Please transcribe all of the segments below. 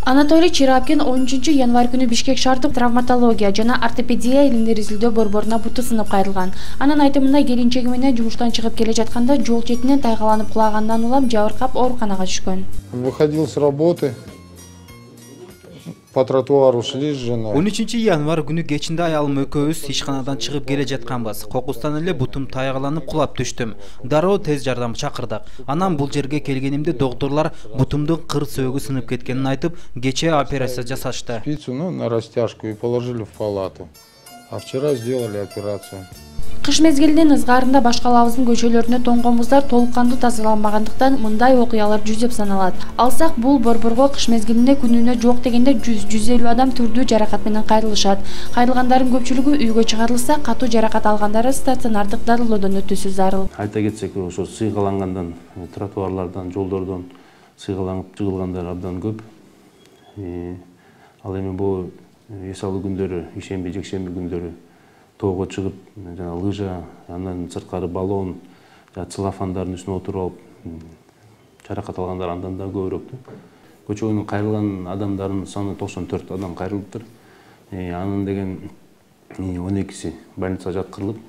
Анатолий Чирапкин 13 январь күнү Бишкек шаардык травматология жана ортопедия илимдер изилдөө борборуна буту сынып кайрылган. Анын айтымында келинчеги менен жумуштан чыгып келе жатканда жол четинен тайгаланып кулагандан улам жабыркап ооруканага түшкөн. Выходил с работы. По тротуару шли с женой. 13 январь күнү кечинде аялым экөөбүз ишканадан чыгып келе жатканбыз. Кокустан эле бутум тайгаланып кулап түштүм. Дароо тез жардам чакырдык. Анан бул жерге келгенимде доктурлар бутумдун кыр сөөгү сынып кеткенин айтып, кечээ операция жасашты. Спицу, на растяжку и положили в палату. А вчера сделали операцию. Кыш мезгилинин ызгаарында башкалабыздын көчөлөрүнө тоңгон муздар толук кандуу тазаланбагандыктан мындай окуялар жүзөп саналат. Алсак бул борборго кыш мезгилинде күнүнө жок дегенде 100-150 адам түрдүү жаракат менен кайрылышат. Кайрылгандардын көпчүлүгү үйгө чыгарылса, катуу жаракат алгандары стационардык дарылоодон өтүүсү зарыл. Айта кетсек, ошо сыйгалангандан, тротуарлардан, жолдордон сыйгаланып жыгылгандар абдан көп. Ал эми бул эс алуу күндөрү, ишемби, жекшемби күндөрү тоого чыгып, жана лыжа, андан сырткары баллон, целлофандардын үстүнө отуруп алып, жаракат алгандар андан да көбүрөөк. Көчө боюнан кайрылган адамдардын саны 94 адам кайрылыптыр. Анын деген 12си больницага жаткырылып,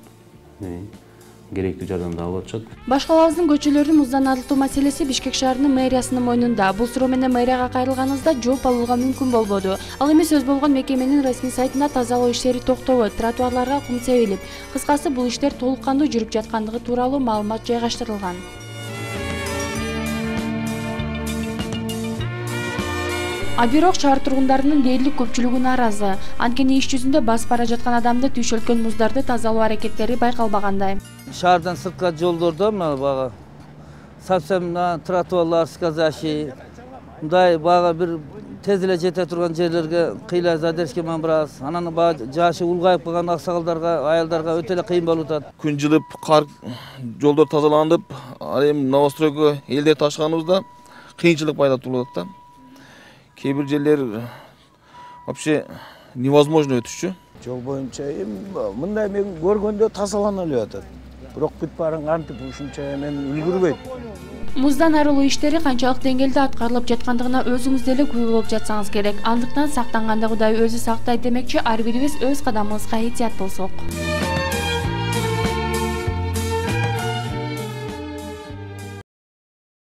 керектүү жардамды алып атышат. Башкалабыздын көчөлөрүн муздан арылтуу маселеси Бишкек шаарынын мэриясынын мойнунда. Бул суроо менен мэрияга кайрылганыбызда жооп алууга мүмкүн болбоду. Ал эми сөз болгон мекеменин расмий сайтында тазалоо иштери токтобойт, тротуарларга кум себилип. Кыскасы бул иштер толук кандуу жүрүп жаткандыгы тууралуу маалымат жайгаштырылган. А бирок шаар тургундарынын дээрлик көпчүлүгү нааразы. Анткени иш жүзүндө басып бара жаткан адамды түйшөлткөн муздарды тазалоо аракеттери байкалбагандай. Шаардан сыртка жолдордо бага совсем тротуарлар сказащий. Мындай бага бир тез эле жете турган жерлерге кыйла задержка менен барабыз. Анан бага жашы улгайып калган аксагалдарга, аялдарга өтө эле кыйын болуп атат. Күн жылып, кар жолдор тазаланып, ал эми новостройго элдер ташыганыбызда кыйынчылык пайда болуп атат да. Кээ бир жерлер вообще невозможно өтүшчү. Жол боюнча мындай мен көргөндө тазалана эле атат. Бирок бүт баарын кантип ушунча мен үлгүрбөйт. Муздан арылуу иштери канчалык деңгээлде аткарылып жаткандыгына өзүңүз деле күбө болуп жатсаңыз керек. Андыктан сактанганда Кудай өзү сактайт демекчи, ар бирибиз өз кадамыбызга этият болсок.